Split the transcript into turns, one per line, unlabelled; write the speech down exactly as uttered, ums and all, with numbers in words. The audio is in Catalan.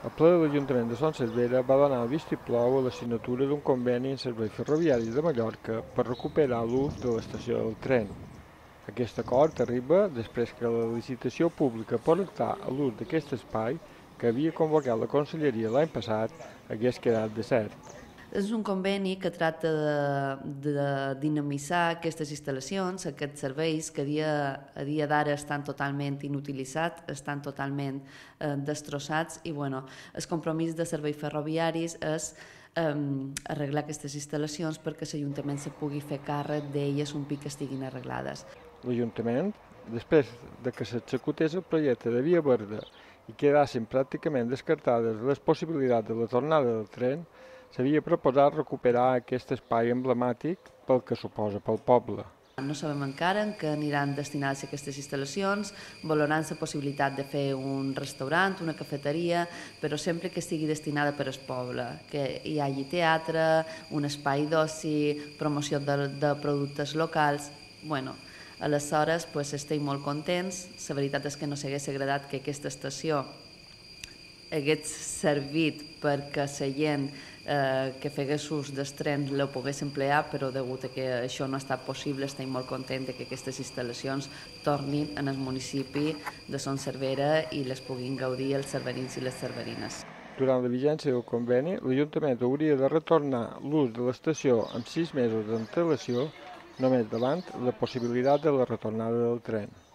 El ple de l'Ajuntament de Son Servera va donar el vistiplau a la signatura d'un conveni en serveis ferroviaris de Mallorca per recuperar l'ús de l'estació del tren. Aquest acord arriba després que la licitació pública per optar a l'ús d'aquest espai, que havia convocat la Conselleria l'any passat, hagués quedat desert.
És un conveni que tracta de, de dinamitzar aquestes instal·lacions, aquests serveis que a dia, a dia d'ara estan totalment inutilitzats, estan totalment eh, destrossats i bueno, el compromís de serveis ferroviaris és eh, arreglar aquestes instal·lacions perquè l'Ajuntament se pugui fer càrrec d'elles un pic que estiguin arreglades.
L'Ajuntament, després de que s'executés el projecte de Via Verda i quedassin pràcticament descartades les possibilitats de la tornada del tren, s'havia proposat recuperar aquest espai emblemàtic pel que suposa pel poble.
No sabem encara en què aniran destinades aquestes instal·lacions, valoraran la possibilitat de fer un restaurant, una cafeteria, però sempre que estigui destinada per al poble, que hi hagi teatre, un espai d'oci, promoció de, de productes locals. Bueno, aleshores pues, estem molt contents. La veritat és que no s'hagués agradat que aquesta estació hagués servit perquè la gent eh, que fegués ús dels trens la pogués emplear, però degut a que això no ha estat possible, estem molt contents que aquestes instal·lacions tornin en el municipi de Son Servera i les puguin gaudir els cerverins i les cerverines.
Durant la vigència del conveni, l'Ajuntament hauria de retornar l'ús de l'estació amb sis mesos d'antelació, només davant la possibilitat de la retornada del tren.